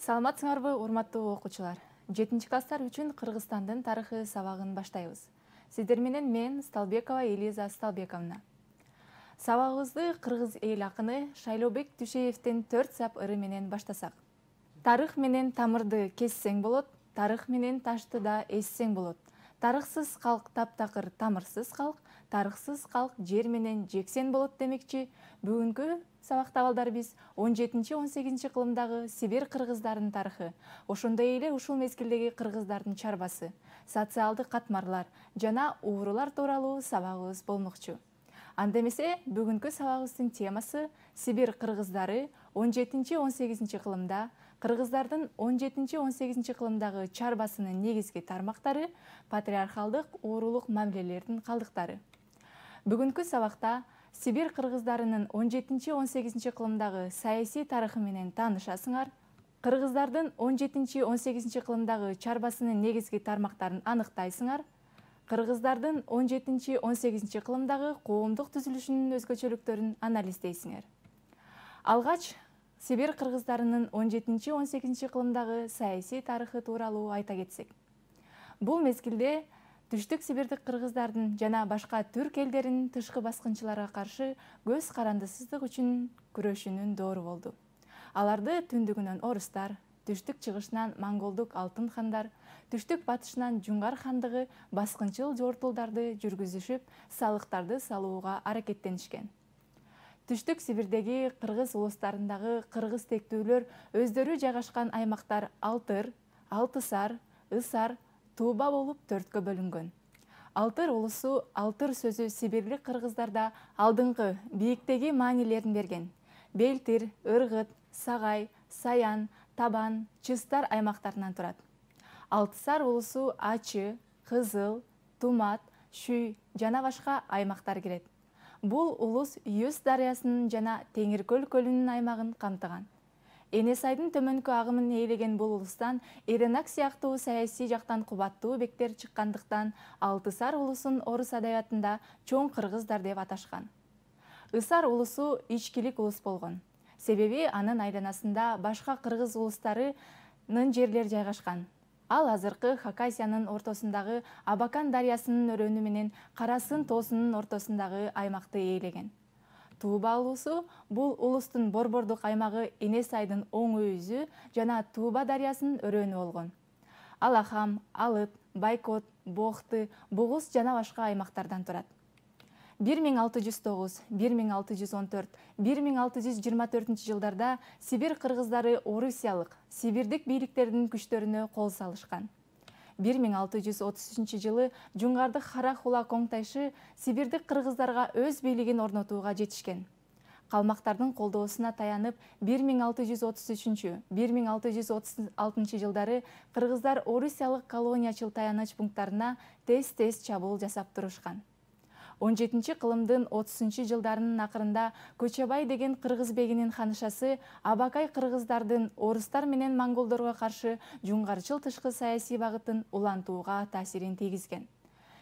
Саламатсыңарбы, урматтуу окуучулар. 7-класстар үчүн Кыргызстандын тарыхы сабагын баштайбыз. Сиздер менен мен Сталбекова Элиза Сталбековна. Сабагыбызды кыргыз эл акыны Шайлообек Түшеевдин 4 сап ыры менен баштасак. Тарых менен тамырды кессең болот, тарых менен ташты да эссең болот. Тарыхсыз калк таптакыр тамырсыз калк, тарыхсыз калк жер менен жексен болот демекчи. Бүгүнкү сабакта балдар биз 17-18 кылымдагы Сибир кыргыздарынын тарыхы, ошондой эле ушул мезгилдеги кыргыздардын чарбасы, социалдык катмарлар жана уурулар тууралуу сабагыбыз болмокчу. Анда эмесе бүгүнкү сабагыбыздын темасы Сибир кыргыздары 17-18 кылымда, кыргыздардын 17-18 кылымдагы чарбасынын негизги тармактары, патриархалдык уурулук мамилелердин калдыктары. Бүгүнкү сабакта Сибир кыргыздарынын 17-18 кылымдагы саясий тарыхы менен таанышасыңар, кыргыздардын 17-18 кылымдагы чарбасынын негизги тармактарын аныктайсыңар, кыргыздардын 17-18 кылымдагы коомдук түзүлүшүнүн өзгөчөлүктөрүн анализдейсиңер. Алгач Сибир кыргыздарынын 17-18 кылымдагы саясий тарыхы тууралуу айта кетсек. Бул мезгилде Түштүк Сибирдик кыргыздардын жана башка түрк элдеринин тышкы баскынчыларга каршы көз карандысыздык үчүн күрөшүүнүн доору болду. Аларды түндүгүнөн орустар, түштүк чыгышынан монголдук алтын хандар, түштүк батышынан жуңгар хандыгы баскынчыл жортулдарды жүргүзүшүп, салыктарды салууга аракеттенишкен. Түштүк Сибирдеги кыргыз улустарындагы кыргыз тектүүлөр өздөрү жайгашкан аймактар Алтыр, Алтысар, Ысар, Тууба болуп 4кө бөлүнгөн. Алтыр улусу Алтыр сөзү сибирлик кыргыздарда алдыңкы бийиктеги маанилерин берген. Белтир, Ыргыт, Сагай, Саян, Табан, Чыстар аймактарынан турат. Алтысар улусу Ачы, Кызыл, Тумат, Шүй жана башка аймактар кирет. Бул улус Юз дарыясынын жана Теңиркөл көлүнүн аймагын камтыган. Энесайдын төмөнкү агымын ээлеген бул улустан Эренак сыяктуу саясий жактан кубаттуу бектер чыккандыктан Алтысар улусун орус адабиятында чоң кыргыздар деп аташкан. Ысар улусу ичкилик улус болгон. Себеби анын айланасында башка кыргыз улустарынын жерлери жайгашкан. Ал азыркы Хакасиянын ортосундагы Абакан дарыясынын өрөөнү менен Карасын тоосунун ортосундагы аймакты ээлеген. Тууба улусу бул улустун борбордук аймагы Энесайдын оң өйүзү жана Тууба дарыясынын өрөөнү болгон. Алахам, Алыт, Байкот, Бохты, Бугуз жана башка аймактардан турат. 1609, 1614, 1624 жылдарда Сибир кыргыздары орусиялык, сибирдик бийликтердин күчтөрүнө кол салышкан. 1633 жылы Жуңгардык Харахула Коңтайшы сибирдик кыргыздарга өз бийлигин орнотууга жетишкен. Калмактардын колдоосуна таянып 1633-1636 жылдары кыргыздар орусиялык колониячыл таяныч пункттарына тез-тез чабуул жасап турушкан. 17 кылымдын 30 жылдарынын акырында Көчөбай деген кыргыз бегинин ханышасы Абакай кыргыздардын орустар менен монголдорго каршы жуңгарчыл тышкы саясий багытын улантууга таасирин тийгизген.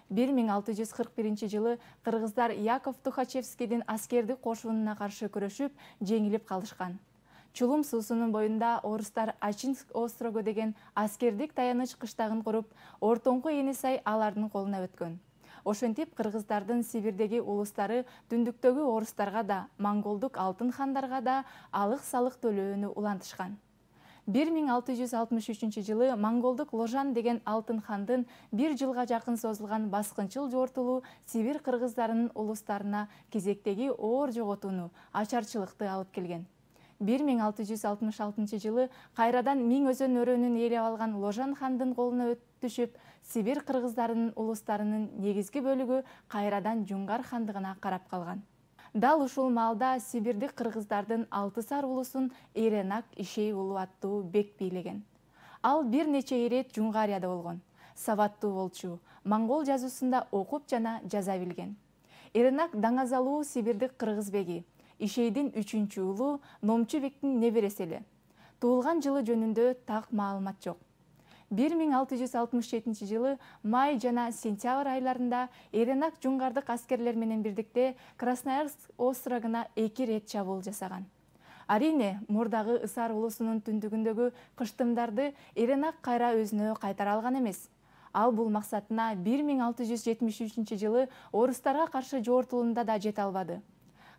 1641 жылы кыргыздар Яков Тухачевскийдин аскердик кошунуна каршы күрөшүп, жеңилип калышкан. Чулум суусунун боюнда орустар Ачинск острогу деген аскердик таяныч кыштагын куруп, ортоңку Энесай алардын колуна өткөн. Ошентип кыргыздардын Сибирдеги улустары түндүктөгү орустарга да, монголдук алтын хандарга да алык-салык төлөөнү улантышкан. 1663 жылы монголдук Ложан деген алтын хандын 1 жылга жакын созулган баскынчыл жортулуу Сибир кыргыздарынын улустарына кезектеги оор жоготууну, ачарчылыкты алып келген. 1666 жылы кайрадан Миң өзөн өрөөнүн ээлеп алган Ложан хандын колуна түшүп, Сибир кыргыздарынын улустарынын негизги бөлүгү кайрадан Жуңгар хандыгына карап калган. Дал ушул маалда сибирдик кыргыздардын Алтысар улусун Эренак Ишей уулу аттуу бек бийлеген. Ал бир нече ирет Жуңгарияда болгон. Сабаттуу болчу, монгол жазуусунда окуп жана жаза билген. Эренак даңазалуу сибирдик кыргыз беги, Ишейдин 3-чү уулу, Номчу бектин небереси эле. Туулган жылы жөнүндө так маалымат жок. 1667 жылы май жана сентябрь айларында Эренак жуңгардык аскерлер менен бирдикте Красноярск острогуна 2 рет чабуул жасаган. Арине, мурдагы Ысар улусунун түндүгүндөгү кыштымдарды Эренак кайра өзүнө кайтара алган эмес. Ал бул максатына 1673 жылы орустарга каршы жортулуунда да жете албады.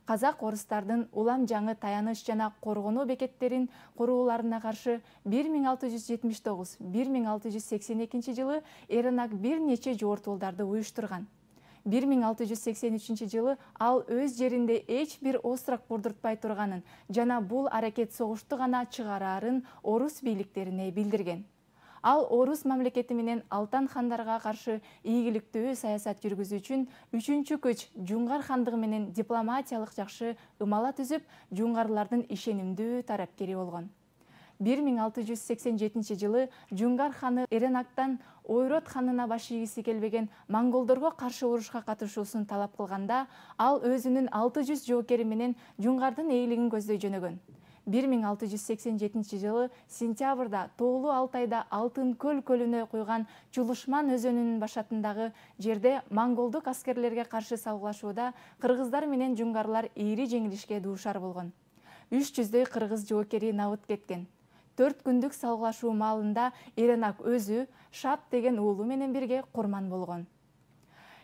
Казак орустардын улам жаңы таяныч жана коргонуу бекеттерин курууларына каршы 1679-1682 жылы Эренак бир нече жортуулдарды уюштурган. 1683 жылы ал өз жеринде эч бир острак курдуртпай турганын жана бул аракет согушту гана чыгарарын орус бийликтерине билдирген. Ал орус мамлекети менен Алтан хандарга каршы ийгиликтүү саясат жүргүзүү үчүн 3-чү көч Жуңгар хандыгы менен дипломатиялык жакшы ымала түзүп, жуңгарлардын ишенимдүү тарапкери болгон. 1687 жылы Жуңгар ханы Эренактан Ойрот ханына баш ийгиси келбеген монголдорго каршы урушка катышуусун талап кылганда, ал өзүнүн 600 жоокери менен жуңгардын ээлигин көздөй жөнөгөн. 1687 жылы сентябрда Тоолуу Алтайда Алтын көл көлүнө куйган Чулушман өзөнүнүн башатындагы жерде монголдук аскерлерге каршы салгылашууда кыргыздар менен жуңгарлар ийри жеңилишке дуушар болгон. 300дөй кыргыз жоокери набыт кеткен. 4 күндүк салгылашуу маалында Эренак өзү Шап деген уулу менен бирге курман болгон.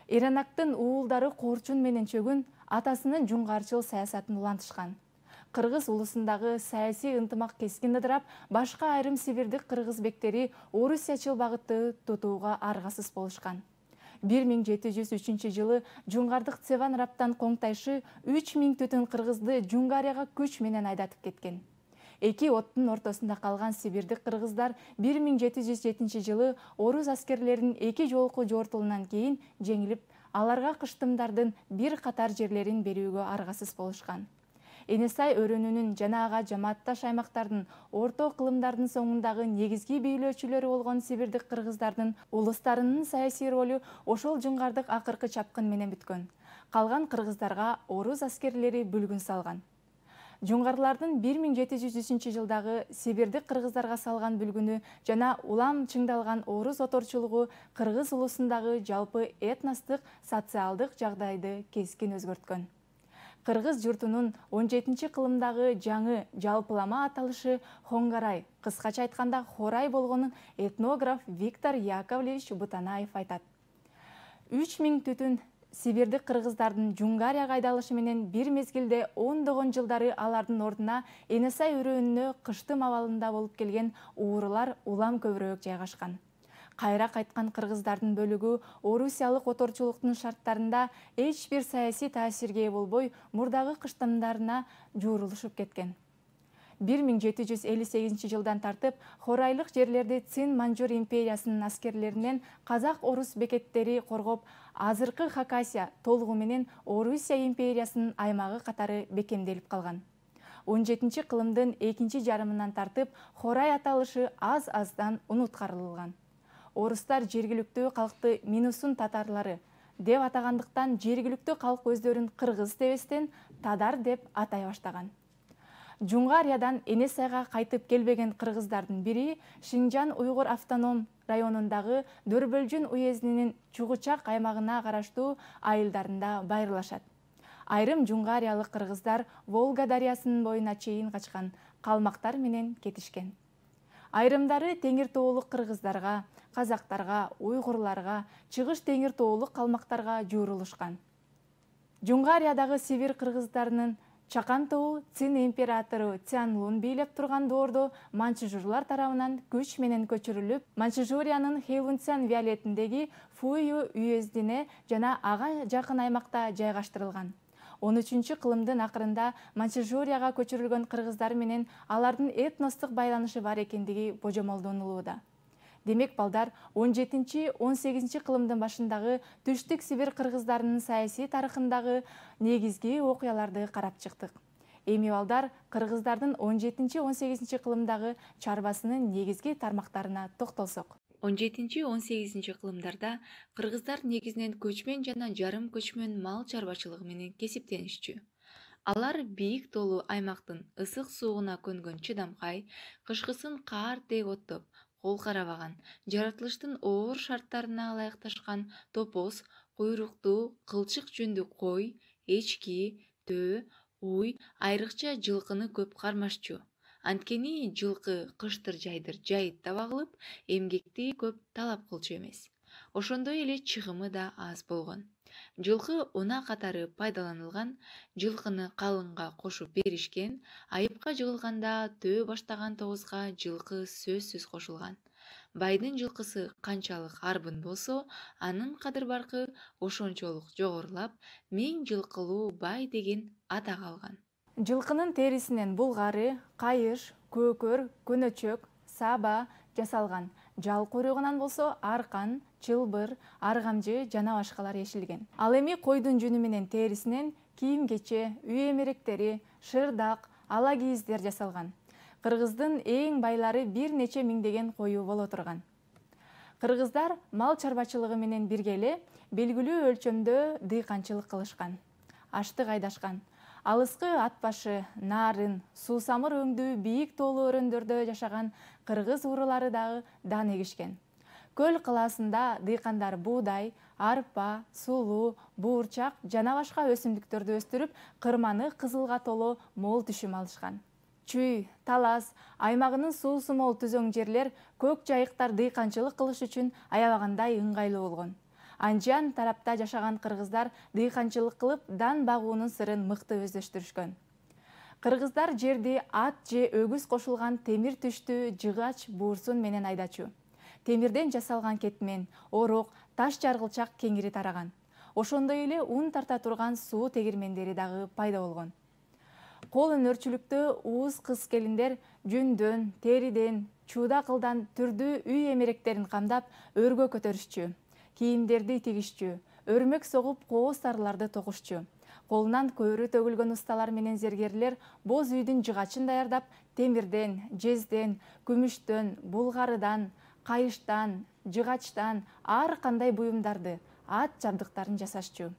Эренактын уулдары Корчун менен Чөгүн атасынын жуңгарчыл саясатын улантышкан. Кыргыз улусундагы саясий ынтымак кескин ыдырап, башка айрым сибирдик кыргыз бектери орусячыл багытты тутууга аргасыз болушкан. 1703 жылы жуңгардык Цеван Раптан Коңтайшы 3000 түтүн кыргызды Жуңгарияга күч менен айдатып кеткен. Эки оттун ортосунда калган сибирдик кыргыздар 1707 жылы орус аскерлеринин эки жолку жортулунан кийин жеңилип, аларга кыштымдардын бир катар жерлерин берүүгө аргасыз болушкан. Энесай өрөөнүнүн жана ага жамаатташ аймактардын орто кылымдардын соңундагы негизги бийлөөчүлөрү болгон сибирдик кыргыздардын улустарынын саясий ролу ошол жуңгардык акыркы чапкын менен бүткөн. Калган кыргыздарга орус аскерлери бүлгүн салган. Жуңгарлардын 1703 жылдагы сибирдик кыргыздарга салган бүлгүнү жана улам чыңдалган орус оторчулугу кыргыз улусундагы жалпы этностук социалдык жагдайды кескин өзгөрткөн. Кыргыз журтунун 17 кылымдагы жаңы жалпылама аталышы Хоңгарай, кыскача айтканда Хорай болгонун этнограф Виктор Яковлевич Бутанаев айтат. 3000 түтүн сибирдик кыргыздардын Жуңгарияга айдалышы менен бир мезгилде ондогон жылдары алардын ордуна Энесай өрөөнүнө кыштым абалында болуп келген уурулар улам көбүрөөк жайгашкан. Кайра кайткан кыргыздардын бөлүгү орусиялык оторчулуктун шарттарында эч бир саясий таасирге ээ болбой, мурдагы кыштымдарына жуурулушуп кеткен. 1758 жылдан тартып хорайлык жерлерди Цин-Манжур империясынын аскерлеринен казак-орус бекеттери коргоп, азыркы Хакасия толугу менен Орусия империясынын аймагы катары бекемделип калган. 17 кылымдын экинчи жарымынан тартып Хорай аталышы аз-аздан унуткарылган. Орустар жергиликтүү калкты Минусун татарлары деп атагандыктан жергиликтүү калк өздөрүн кыргыз дебестен Тадар деп атай баштаган. Жуңгариядан Энесайга кайтып келбеген кыргыздардын бири Шинжан уйгур автоном районундагы Дөрбөлжүн уездинин Чугучак аймагына караштуу айылдарында байырлашат. Айрым жуңгариялык кыргыздар Волга дарыясынын боюна чейин качкан, калмактар менен кетишкен. Айрымдары Теңир тоолук кыргыздарга, казактарга, уйгурларга, чыгыш Теңир тоолук калмактарга жуурулушкан. Жуңгариядагы сибир кыргыздарынын Чакан тобу Цин императору Цянлун бийлеп турган доордо манчжурлар тарабынан күч менен көчүрүлүп, Манчжуриянын Хэйлунцян виолетиндеги Фую уездине жана ага жакын аймакта жайгаштырылган. 13 кылымдын акырында Манчжурияга көчүрүлгөн кыргыздар менен алардын этностук байланышы бар экендиги божомолдонулууда. Демек балдар 17-18 кылымдын башындагы Түштүк Сибир кыргыздарынын саясий тарыхындагы негизги окуяларды карап чыктык. Эми балдар кыргыздардын 17-18 кылымдагы чарбасынын негизги тармактарына токтолсок. 17-18 кылымдарда кыргыздар негизинен көчмөн жана жарым көчмөн мал чарбачылыгы менен кесиптенишчү. Алар бийик тоолуу аймактын ысык сууна көнгөн чыдамкай, кышкысын каар тек оттоп, кол карабаган, жаратылыштын оор шарттарына ылайыкташкан топоз, куйруктуу, кылчык жүндүү кой, эчки, төө, Уй айрыкча жылкыны көп кармашчу. Анткени жылкы кыштыр жайдыр жайыт таба кылып, эмгекти көп талап кылчу эмес. Ошондой эле чыгымы да аз болгон. Жылкы унаа катары пайдаланылган, жылкыны калыңга кошуп беришкен, айыпка жыгылганда төө баштаган тогузга жылкы сөзсүз кошулган. Байдын жылкысы канчалык арбын болсо, анын кадыр-баркы ошончолук жогорулап, миң жылкылуу бай деген атак алган. Жылкынын терисинен булгары, кайыш, көкөр, көнөчөк, саба жасалган. Жал куйругунан болсо аркан, чылбыр, аргамжы жана башкалар эшилген. Ал эми койдун жүнү менен терисинен кийим-кече, үй эмеректери, шырдак, ала кийиздер жасалган. Кыргыздын эң байлары бир нече миңдеген кою боло турган. Кыргыздар мал чарбачылыгы менен бирге эле белгилүү өлчөмдө дыйканчылык кылышкан. Аштык айдашкан. Алыскы ат башы, нарын, суусамыр өңдүү бийик тоолуу өрөөндөрдө жашаган кыргыз уурулары дагы дан эгишкен. Көл калаасында дыйкандар буудай, арпа, сулуу, буурчак жана башка өсүмдүктөрдү өстүрүп, кырманы кызылга толо мол түшүм алышкан. Чүй, Талас аймагынын суусу мол түзөң жерлер көк жайыктар дыйканчылык кылыш үчүн аябагандай ыңгайлуу болгон. Анжан тарапта жашаган кыргыздар дыйканчылык кылып, дан багуунун сырын мыкты өздөштүрүшкөн. Кыргыздар жерди ат же өгүз кошулган темир түштүү жыгач буурсун менен айдачу. Темирден жасалган кетмен, орок, таш жаргылчак кеңири тараган. Ошондой эле ун тарта турган суу тегирмендери дагы пайда болгон. Кол өнөрчүлүктө ууз кыз-келиндер жүндөн, териден, чууда кылдан түрдүү үй эмеректерин камдап, өргө көтөрүшчү. Кийимдерди тигишчү, өрмөк согуп кооз тарыларды токушчу. Колунан көөрү төгүлгөн усталар менен зергерлер боз үйдүн жыгачын даярдап, темирден, жезден, күмүштөн, булгарыдан, кайыштан, жыгачтан ар кандай буюмдарды, ат жабдыктарын жасашчу.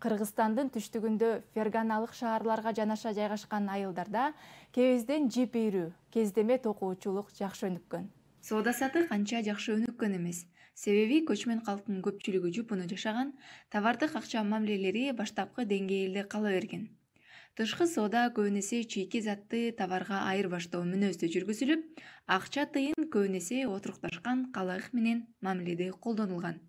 Кыргызстандын түштүгүндө ферганалык шаарларга жанаша жайгашкан айылдарда кебезден жип ийрүү, кездеме токуучулук жакшы өнүккөн. Соода сатык анча жакшы өнүккөн эмес. Себеби көчмөн калктын көпчүлүгү жупуну жашаган, товардык акча мамилелери баштапкы деңгээлде кала берген. Тышкы соода көбүн эсе чийки затты товарга айырбаштоо мүнөздө жүргүзүлүп, акча тыйын көбүн эсе отурукташкан калайык менен мамиледе колдонулган.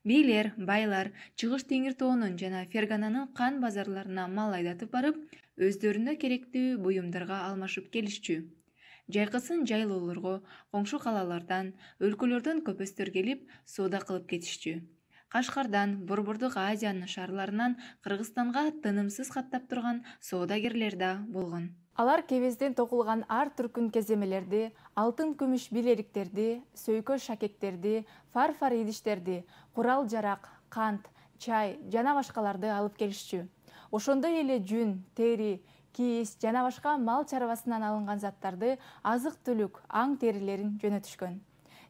Бийлер, байлар чыгыш Теңир тоонун жана Фергананын кан базарларына мал айдатып барып, өздөрүнө керектүү буюмдарга алмашып келишчү. Жайкысын жайлоолорго, коңшу калалардан, өлкөлөрдөн көпөстөр келип, соода кылып кетишчү. Кашкардан, Борбордук Азиянын шаарларынан Кыргызстанга тынымсыз каттап турган соодагерлер да болгон. Алар кебезден токулган ар түркүн кеземелерди, алтын күмүш билериктерди, сөйкө шакектерди, фарфор идиштерди, курал-жарак, кант, чай жана башкаларды алып келишчү. Ошондой эле жүн, тери, кийиз жана башка мал чарбасынан алынган заттарды, азык-түлүк, аң терилерин жөнөтүшкөн.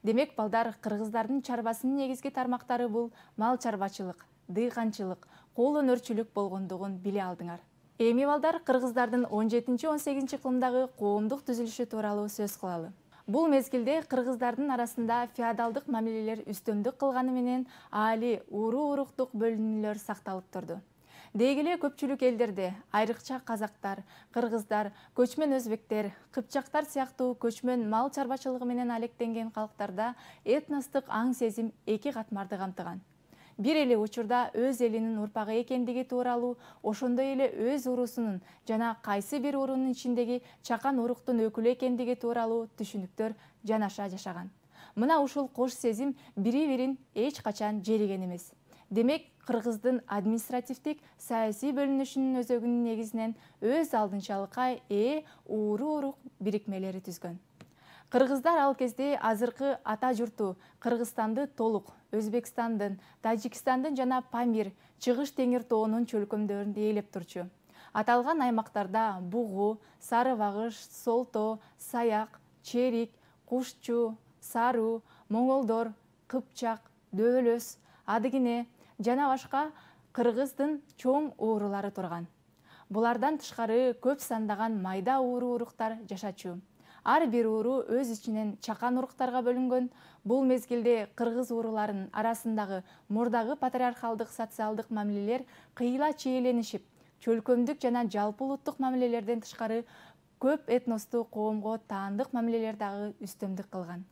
Демек, балдар, кыргыздардын чарбасынын негизги тармактары бул мал чарбачылык, дыйканчылык, кол өнөрчүлүк болгондугун биле алдыңар. Эми балдар, кыргыздардын 17-18 кылымдагы коомдук түзүлүшү тууралуу сөз кылалы. Бул мезгилде кыргыздардын арасында феодалдык мамилелер үстөмдүк кылганы менен али уруу-уруктук бөлүнүүлөр сакталып турду. Дегеле көпчүлүк элдерде, айрыкча казактар, кыргыздар, көчмөн өзбектер, кыпчактар сыяктуу көчмөн мал чарбачылыгы менен алектенген калктарда этностук аң сезим эки катмарды камтыган. Бир эле учурда өз элинин урпагы экендиги тууралуу, ошондой эле өз уруусунун жана кайсы бир уруунун ичиндеги чакан уруктун өкүлү экендиги тууралуу түшүнүктөр жанаша жашаган. Мына ушул кош сезим бири-бирин эч качан жериген эмес. Демек, кыргыздын административдик саясий бөлүнүшүнүн өзөгүнүн негизинен өз алдынчалыкка уруу-урук бирикмелери түзгөн. Кыргыздар ал кезде азыркы ата журту Кыргызстанды толук Өзбекстандын, Тажикстандын жана Памир, Чыгыш Теңир тоонун чөлкөмдөрүн ээлеп турчу. Аталган аймактарда Бугу, Сары Багыш, Солто, Саяк, Черик, Кушчу, Саруу, Моңолдор, Кыпчак, Дөөлөс, Адыгине жана башка кыргыздын чоң уурулары турган. Булардан тышкары көп сандаган майда уруктар жашачу. Ар бир ууру өз ичинен чакан уруктарга бөлүнгөн. Бул мезгилде кыргыз ууруларынын арасындагы мурдагы патриархалдык социалдык мамилелер кыйла чиеленишип, чөлкөмдүк жана жалпы улуттук мамилелерден тышкары көп этностуу коомго таандык мамилелер дагы үстөмдүк кылган.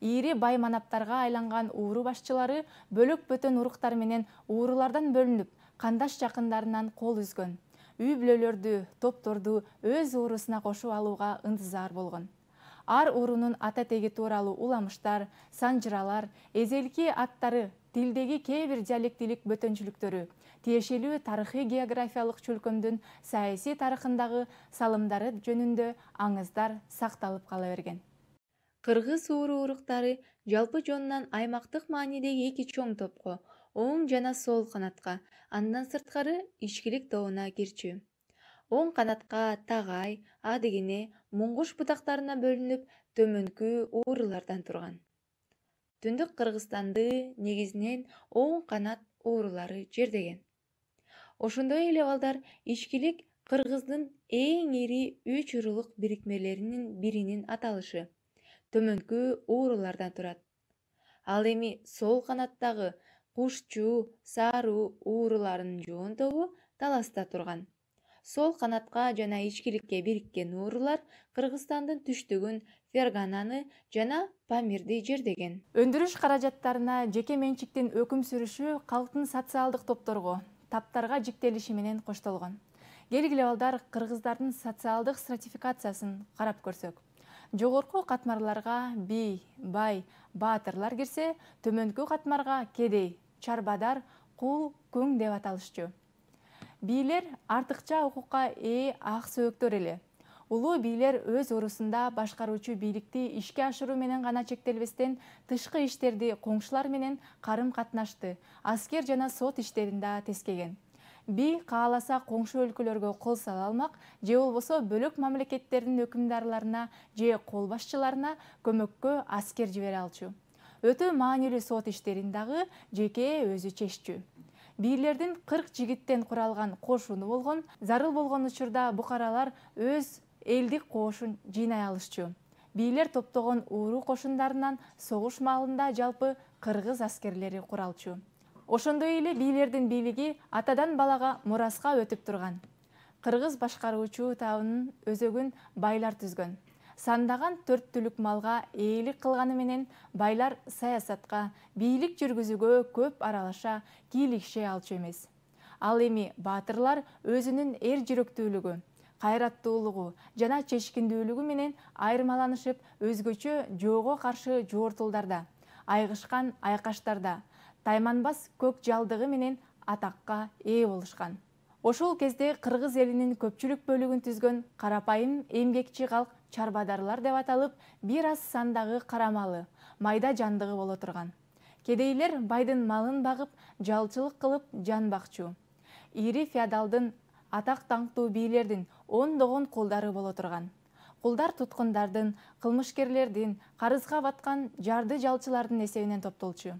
Ири бай манаптарга айланган ууру башчылары бөлөк бөтөн уруктар менен уурулардан бөлүнүп, кандаш жакындарынан кол үзгөн. Үй бүлөлөрдү, топторду өз уурусуна кошуп алууга ынтызар болгон. Ар уурунун ата теги тууралуу уламыштар, санжыралар, эзелки аттары, тилдеги кээ бир диалектилик бөтөнчүлүктөрү, тиешелүү тарыхый географиялык чөлкөмдүн саясий тарыхындагы салымдары жөнүндө аңыздар сакталып кала берген. Кыргыз ууру уруктары жалпы жонунан аймактык маанидеги эки чоң топко, оң жана сол канатка, андан сырткары ичкилик тобуна кирчү. Оң канатка Тагай, Адыгене, Муңгуш бутактарына бөлүнүп, төмөнкү уурулардан турган. Түндүк Кыргызстанды негизинен оң канат уурулары жердеген. Ошондой эле балдар ичкилик Кыргыздын эң ири 3 уруулук бирикмелеринин биринин аталышы төмөнкү уурулардан турат. Ал эми сол канаттагы Кушчу, Саруу ууруларынын жоон тобу таласта турган. Сол канатка жана ичкиликке бириккен уурулар Кыргызстандын түштүгүн, Фергананы жана Памирди жердеген. Өндүрүш каражаттарына жеке менчиктин өкүм сүрүшү калктын социалдык топторго, таптарга жиктелиши менен коштолгон. Келгиле балдар, кыргыздардын социалдык стратификациясын карап көрсөк. Жогорку катмарларга бий, бай, баатырлар кирсе, төмөнкү катмарга кедей, чарбадар, кул, күң деп аталышчу. Бийлер артыкча укукка ээ ак сөөктөр эле. Улуу бийлер өз уурусунда башкаруучу бийликти ишке ашыруу менен гана чектелбестен, тышкы иштерди коңшулар менен карым катнашты, аскер жана сот иштерин да тескеген. Би кааласа коңшу өлкөлөргө кол сала алмак, же болбосо бөлөк мамлекеттердин өкүмдарларына же кол башчыларына көмөккө аскер жибере алчу. Өтө маанилүү сот иштерин дагы жеке өзү чеччү. Бийлердин 40 жигиттен куралган кошуну болгон, зарыл болгон учурда букаралар өз элдик кошун жыйнай алышчу. Бийлер топтогон ууру кошундарынан согуш маалында жалпы кыргыз аскерлери куралчу. Ошондой эле бийлердин бийлиги атадан балага мураска өтүп турган. Кыргыз башкаруучу табынын өзөгүн байлар түзгөн. Сандаган 4 түлүк малга ээлик кылганы менен байлар саясатка, бийлик жүргүзүүгө көп аралаша, кийлигише алчу эмес. Ал эми баатырлар өзүнүн эр жүрөктүүлүгү, кайраттуулугу жана чечкиндүүлүгү менен айырмаланышып, өзгөчө жоого каршы жууртулдарда, айгышкан айкаштарда, тайманбас көк жалдыгы менен атакка ээ болушкан. Ошол кезде кыргыз элинин көпчүлүк бөлүгүн түзгөн карапайым эмгекчи калк чарбадарлар деп аталып, бир аз сандагы карамалы, майда жандыгы боло турган. Кедейлер байдын малын багып, жалчылык кылып жан бакчу. Ири феодалдын, атак даңктуу бийлердин ондогон кулдары боло турган. Кулдар туткундардын, кылмышкерлердин, карызга баткан жарды жалчылардын эсебинен топтолчу.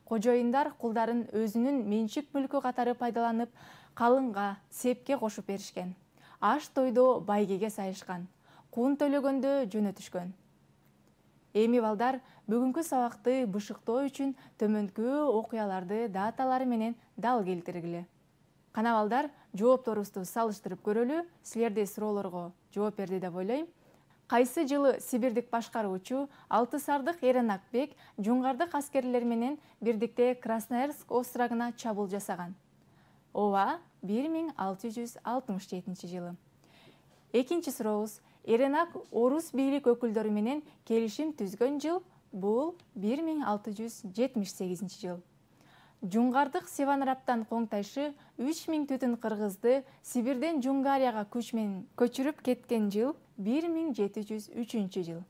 Кожоюндар кулдарын өзүнүн менчик мүлкү катары пайдаланып, калыңга, сепке кошуп беришкен. Аш тойдо байгеге сайышкан. Кун төлөгөндө жөнөтүшкөн. Эми балдар, бүгүнкү сабакты бышыктоо үчүн төмөнкү окуяларды даталары менен дал келтиргиле. Кана балдар, жоопторубузду салыштырып көрөлү. Силерде суроолорго жооп берди деп ойлойм. Кайсы жылы сибирдик башкаруучу Алтысардык Эренакбек жуңгардык аскерлер менен бирдикте Красноярск острогуна чабуул жасаган? Ооба, 1667 жылы. Экинчи сурообуз. Эренак орус бийлик өкүлдөрү менен келишим түзгөн жыл? Бул 1678 жыл. Жуңгардык Севанраптан Коңтайшы 3000 түтүн кыргызды Сибирден Жунгарияга күч менен көчүрүп кеткен жыл? 1703 жыл.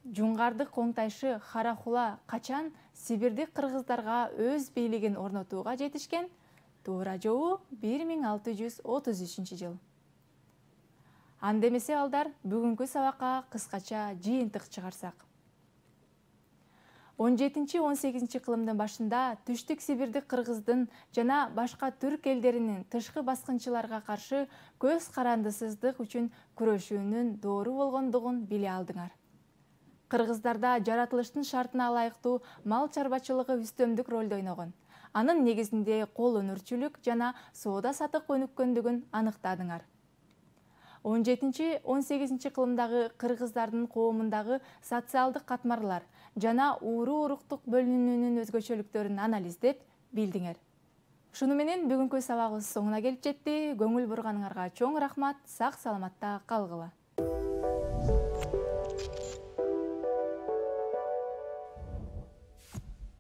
Жуңгардык Коңтайшы Харахула качан Сибирдик кыргыздарга өз бийлигин орнотууга жетишкен? Туура жообу 1633 жыл. Анда эмесе балдар, бүгүнкү сабакка кыскача жыйынтык чыгарсак. 17-18 кылымдын башында Түштүк Сибирдик кыргыздын жана башка түрк элдеринин тышкы баскынчыларга каршы көз карандысыздык үчүн күрөшүүнүн доору болгондугун биле алдыңар. Кыргыздарда жаратылыштын шартына ылайыктуу мал чарбачылыгы үстөмдүк ролду ойногон. анын негизинде кол өнөрчүлүк жана соода сатык өнүккөндүгүн аныктадыңар. 17-18 кылымдагы кыргыздардын коомундагы социалдык катмарлар жана уруу-уруктук бөлүнүүнүн өзгөчөлүктөрүн анализдеп билдиңер. Ушуну менен бүгүнкү сабагыбыз соңуна келип жетти. Көңүл бурганыңарга чоң рахмат. Сак саламатта калгыла.